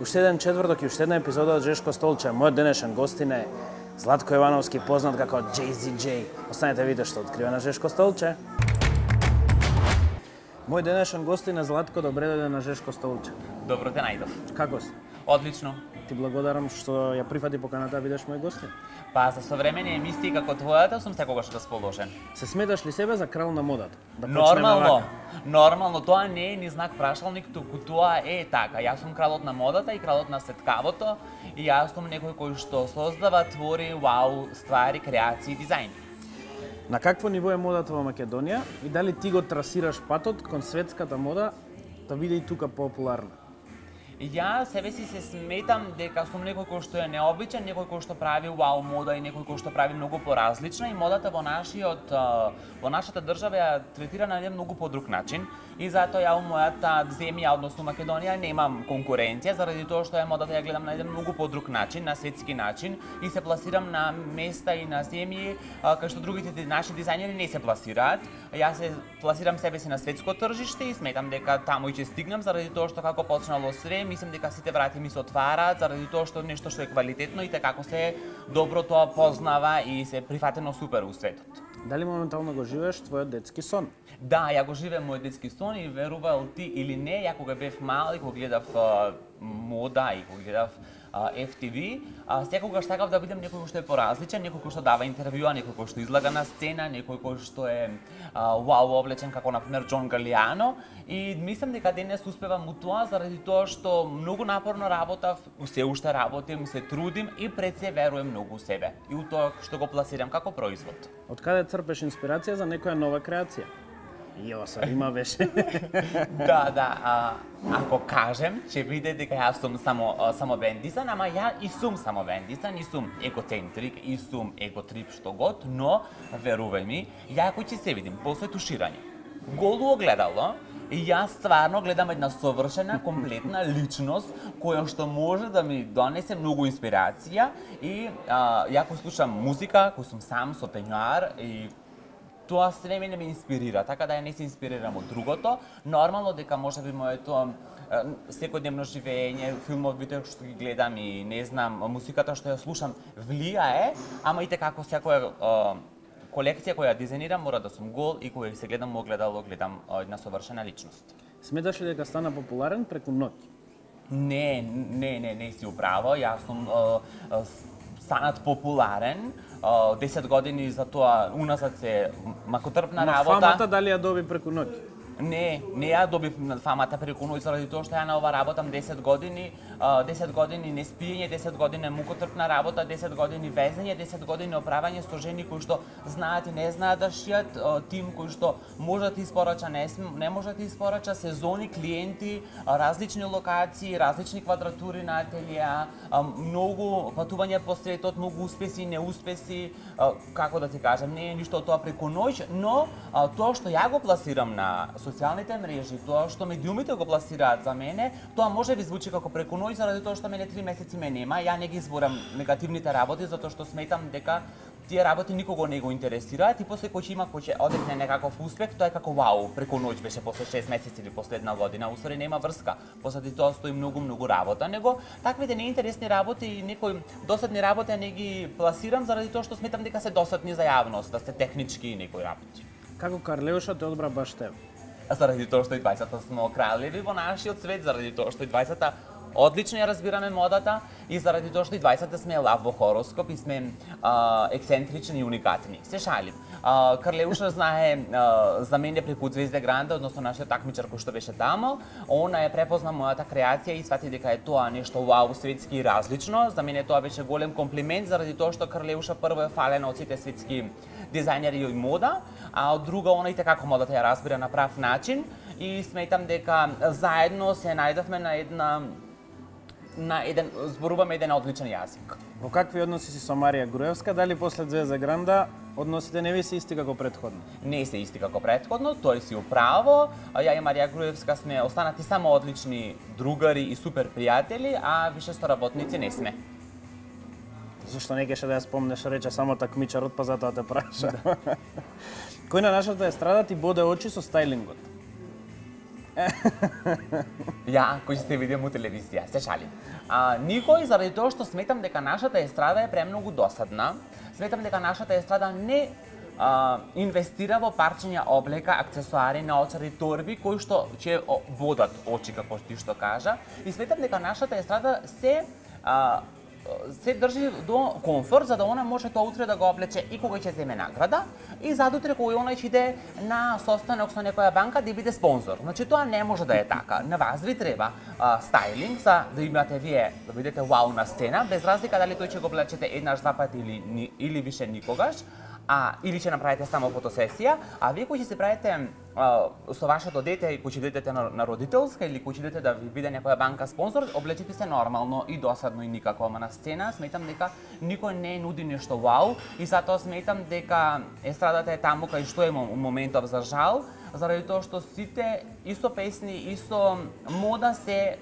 Уште еден четврток и уште една епизода од Жешко столче. Мојот денешен гостин е Златко Јовановски, познат како JZJ. Останете видите што открива на Жешко столче. Мој денешен гостин е Златко, добре дојде на Жешко столче. Добро те најдов. Како си? Одлично. Ти благодарам што ја прифати поканата да бидеш мој гостин. Па за современи емисии како твојата сум секогаш расположен. Се сметаш ли себе за крал на модата? Да Нормално, тоа не е ни знак прашалник, туку тоа е така. Јас сум кралот на модата и кралот на сеткавото и јас сум некој кој што создава, твори, вау, ствари, креации, дизајн. На какво ниво е модата во Македонија и дали ти го трасираш патот кон светската мода да биде и тука популарна? Ја себе си се сметам дека сум некој кој што е необичен, некој кој што прави вау мода и некој кој што прави многу поразлична и модата во нашата држава ја третира на еден многу подруг начин и затоа ја во мојата земја, односно Македонија, немам конкуренција заради тоа што ја модата ја гледам на еден многу подруг начин, на светски начин и се пласирам на места и на земји кај што другите наши дизајнери не се пласираат. Јас се пласирам себе си на светско тржиште и сметам дека таму и ќе стигнам заради тоа што како почнало све, мислам дека сите врати ми се отвараат заради тоа што нешто што е квалитетно и како се добро тоа познава и се прифатено супер у светот. Дали моментално го живееш твојот детски сон? Да, ја го живеам мојот детски сон и верувал ти или не, ја кога бев мал и кога гледав мода и кога гледав FTV, секогаш сакав да бидам некој кој што е поразличен, некој кој што дава интервјуа, некој кој што излага на сцена, некој кој што е вау облечен како например Џон Галијано и мислам дека денес успевам у тоа заради тоа што многу напорно работав, се уште работим, се трудим и пред се верувам многу у себе и у тоа што го пласирам како производ. Од каде црпеш инспирација за некоја нова креација? Јоса, има беше. Да, ако кажем, ќе биде дека јас сум само бендисан, ама ја и сум само бендисан, и сум егоцентрик, и сум еготрип што год, но верувај ми, ја ако ќе се видим после туширање, голо огледало, и јас стварно гледам една совршена, комплетна личност која што може да ми донесе многу инспирација и ја кој слушам музика, кој сум сам со пењуар и тоа се мене ме инспирира, така да ја не се инспирирам од другото. Нормално дека можеби моето секојдневно живење, филмовите што ги гледам и не знам, музиката што ја слушам влијае, ама и како секоја колекција која ја дизајнирам мора да сум гол и кога се гледам во огледало, гледам една совршена личност. Сметаш ли дека стана популарен преку ноќ? Не си управо, јас сум станат популарен, 10 години за тоа уназад се макотрпна работа. Фамата дали ја доби преку ноќ? Не ја добив фамата преку ноќ заради тоа што ја на ова работам 10 години, 10 години неспиење, 10 години мукотрпна работа, 10 години везење, 10 години оправање со жени кои што знаат и не знаат да шијат, тим кој што може да ти испорача, не може да ти испорача, сезони, клиенти, различни локации, различни квадратури на ателија, многу патување по светот, многу успеси и неуспеси, како да ти кажам, не е ништо од тоа преку ноќ, но тоа што ја го пласирам на социјалните мрежи, тоа што медиумите го пласираат за мене, тоа може би звучи како преку ноќ заради тоа што мене 3 месеци ме нема. Ја не ги изборам негативните работи затоа што сметам дека тие работи никого не го интересираат и после кој ќе одекне некаков успех, тоа е како вау, преку ноќ беше после 6 месеци или после една година, усвари нема врска. Посади тоа стои многу работа, него таквите неинтересни работи и некои досадни работи не ги пласирам заради тоа што сметам дека се досадни за јавност, да се технички и некои работи. Како Карлеуша те одбра баш тебе? Заради тоа што и 20-та сме кралеви во нашиот свет, заради тоа што и 20-та одлично ја разбираме модата и заради тоа што и 20-та сме лав во хороскоп и сме ексцентрични и уникатни. Се шалим. Карлеуша знае за мене преку Звезде Гранда, односно нашиот такмичар кој што беше таму. Она е препозна мојата креација и свати дека е тоа нешто вау, светски и различно. За мене тоа беше голем комплимент заради тоа што Карлеуша прво е фалена од сите светски дизајнери и мода, а од друга она и како модата ја разбира на прав начин и сметам дека заедно се најдовме зборуваме еден одличен јазик. Во какви односи си со Марија Груевска? Дали после Звезда Гранда односите не ви се исти како претходно? Не се исти како претходно, тој си управо. Ја и Марија Груевска сме останати само одлични другари и супер пријатели, а више соработници не сме. Зашто не кеше да ја спомнеш, рече само такмичарот, па затоа те праша. Кој на нашата естрада ти боде очи со стајлингот? Ја, кој сте видим у телевизија, се шалим. Никој, заради тоа што сметам дека нашата естрада е премногу досадна, сметам дека нашата естрада не инвестира во парчења облека, аксесуари, наоčари, торби, кои што ќе бодат очи, како ти што кажа, и сметам дека нашата естрада се држи до комфорт, за да она може тоа утре да го облече и кога ќе земе награда, и задутре кога она ќе иде на состанок со некоја банка да биде спонзор. Значи тоа не може да е така. На вас ви треба стайлинг за да имате вие да бидете вау на сцена, без разлика дали тој ќе го облечете еднаш, два пати или више никогаш. Или ќе направите само фотосесија, а вие кои ќе се правите со вашето дете и кои ќе идете на родителска или кои ќе идете да ви биде некоја банка спонзор, облечете се нормално и досадно и никако, ама на сцена сметам дека никој не нуди нешто вау и затоа сметам дека естрадата е таму кај што е моментов за жал, заради тоа што сите и со песни и со мода се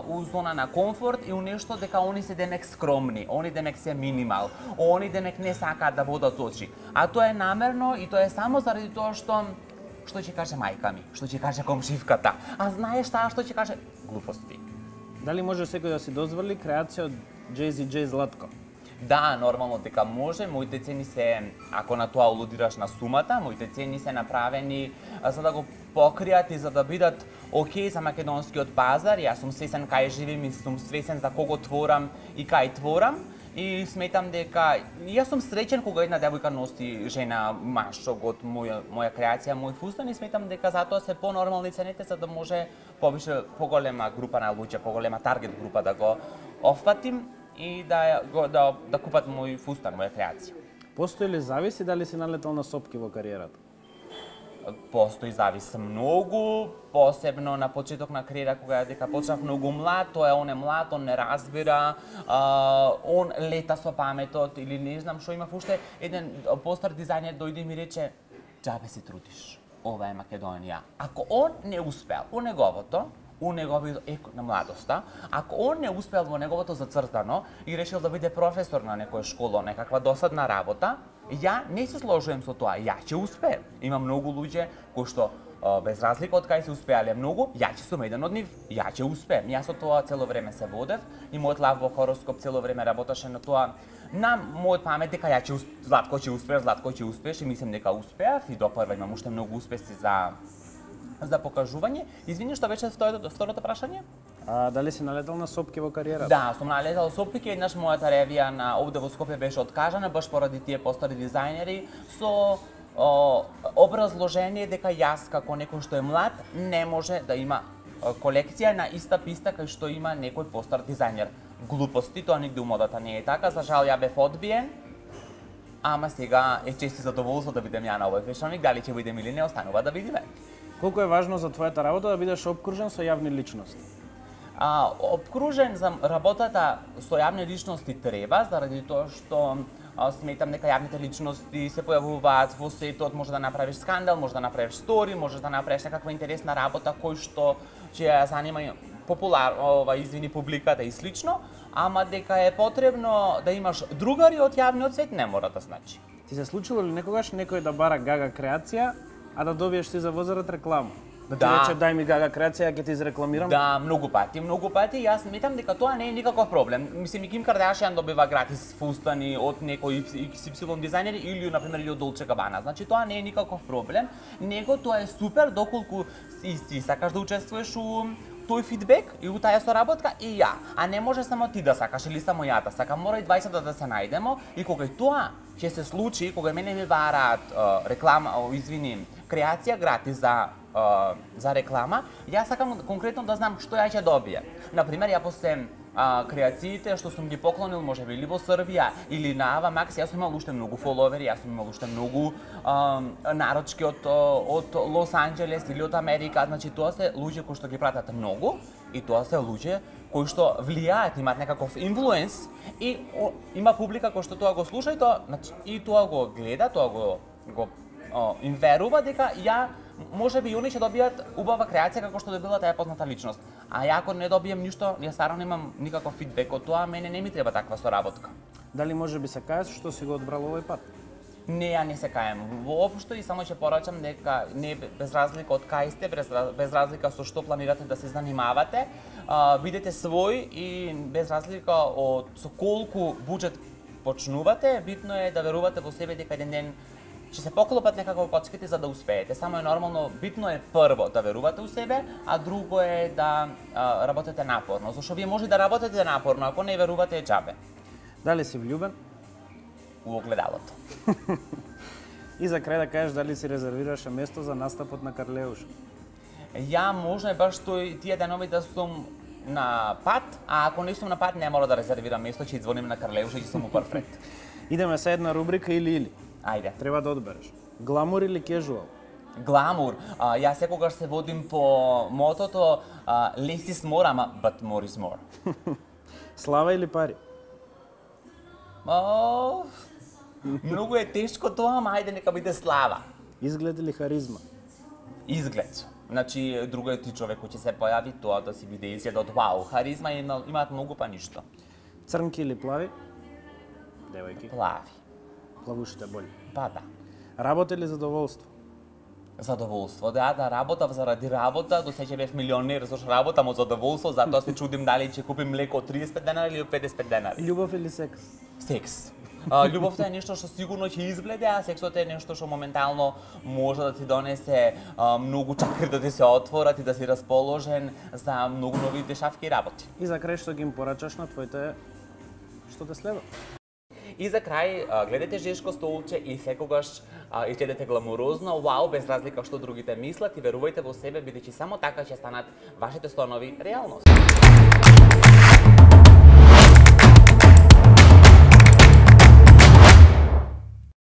у зона на комфорт и у нешто дека они се демек скромни, они демек се минимал, они демек не сакаат да бодат очи. А тоа е намерно и тоа е само заради тоа што ќе каже мајка ми, што ќе каже комшивката. А знаеш таа што ќе каже глупости. Дали може секој да си дозволи креација од JZJ Златко? Да, нормално дека може. Моите цени се, ако на тоа алудираш на сумата, моите цени се направени за да го покријат и за да бидат окей за македонскиот пазар. Јас сум свесен кај живеем и сум свесен за кого творам и кај творам. И сметам дека јас сум среќен кога една девојка носи жена машок од моја креација, мој фустан и сметам дека затоа се понормални цените за да може поголема група на луѓе, поголема таргет група да го офатим и да купат мој фустан, моја креација. Постои ли зависи дали си налетал на сопки во кариерата? Постои зависи многу, посебно на почеток на кариера кога дека почнав многу млад, он е млад, он не разбира, он лета со паметот или не знам што. Имав уште еден постар дизајнер дојде и ми рече: "Џабе се трудиш, ова е Македонија." Ако он не успел у неговото, на младоста, ако он не успел во неговото зацртано и решил да биде професор на некоја школа, некаква досадна работа, ја не се сложувам со тоа, ја ќе успеем. Има многу луѓе кои што без разлика од кај се успеале многу, ја ќе сум еден од нив, ја ќе успеем. Јас со тоа цело време се водев и мојот лав во хороскоп цело време работеше на тоа. На мојот памет дека Златко ќе успееш и мислам дека успеав и допрва имам уште многу успеси за покажување. Извини, што беше второто прашање? Дали си налетал на сопки во кариерата? Да, сум налетал сопки, еднаш мојата ревија на овде во Скопје беше откажана баш поради тие постари дизајнери со образложение дека јас како некој што е млад не може да има колекција на иста писта кај што има некој постар дизајнер. Глупости, тоа нигде у модата не е така, за жал ја бев одбиен. Ама сега е чести задоволство да бидем ја на овој фешоник, дали ќе бидем или не, останува да видиме. Колку е важно за твојата работа да бидеш обкружен со јавни личности? Обкружен за работата со јавни личности треба, заради тоа што сметам дека јавните личности се појавуваат во светот, може да направиш скандал, може да направиш стори, може да направиш некаква интересна работа кој што ќе ја занима публиката и слично, ама дека е потребно да имаш другари од јавниот свет не мора да значи. Ти се случило ли некогаш некој да бара гага креација, а да добиеш ти за возарат реклама? Да ти рече дај ми гага креација, ќе ти изрекламирам? Да, многу пати. Јас сметам дека тоа не е никаков проблем. Мислим, и Ким Кардашијан добива гратис фустани од некој XY дизајнер или, например, од Dolce Gabbana. Значи, тоа не е никаков проблем. Него тоа е супер доколку си сакаш да учествуваш у тој фидбек и у таа соработка и ја. А не може само ти да сакаш или само ја да сакам. Мора и 20 да се најдемо и кога тоа ќе се случи, кога мене ми бараат креација гратис за реклама, јас сакам конкретно да знам што ја ќе добијам. Например, ја после креациите што сум ги поклонил можеби или во Србија или на Ава Макс, јас сум имал уште многу фоловери, јас сум имал уште многу нарочки од Лос Анџелес или од Америка. Значи тоа се луѓе кои што ги пратат многу и тоа се луѓе кои што влијаат, имаат некаков инфлуенс и има публика кој што тоа го слуша и тоа го гледа, тоа го им верува дека можеби и они ќе добијат убава креација како што добила таа позната личност. А ја ако не добијам ништо, јас старо немам никаков фидбек од тоа, мене не ми треба таква соработка. Дали можеби се кажеш што си го одбрал овој пат? Не, ја не се каем воопшто и само ќе порачам дека не без разлика од кај сте, без разлика со што планирате да се занимавате, бидете свој и без разлика од со колку буџет почнувате, битно е да верувате во себе дека еден ден ќе се поклопат некако коцките за да успеете. Само е нормално, битно е прво да верувате у себе, а друго е да работите напорно. Зашто вие може да работите напорно, ако не верувате е џабе. Дали си влюбен? У огледалото. И за крај да кажеш дали си резервираше место за настапот на Карлеуш? Ја може баш тие денови да сум на пат, а ако не сум на пат, не мора да резервирам место, ќе извоним на Карлеуш и ќе сум у перфект. Идеме со една рубрика или. Ајде. Треба да одбереш. Гламур или кежуал? Гламур. Јас секогаш се водим по мотото less is more, ама but more is more. Слава или пари? Многу е тешко тоа, ама ајде нека биде слава. Изглед или харизма? Изглед. Значи, друго е ти човек кој ќе се појави, тоа да си биде изглед од вау. Харизма имаат многу па ништо. Црнки или плави? Девојки. Плави. Плавушите боли. Па да. Работа или задоволство? Задоволство, да работав заради работа, до сега бев милионер, зашто работам од задоволство, затоа се чудим дали ќе купим млеко од 35 денари или од 50 денари. Љубов или секс? Секс. Љубовта е нешто што сигурно ќе избледе, а сексот е нешто што моментално може да ти донесе многу чакри да ти се отворат и да си расположен за многу нови дешавки и работи. И за крај што ги им порачаш на твоите што те следат? И за крај, гледате Жешко столче и секогаш изгледате гламурозно, вау, без разлика што другите мислат и верувајте во себе, бидејќи само така ќе станат вашите стонови реалност.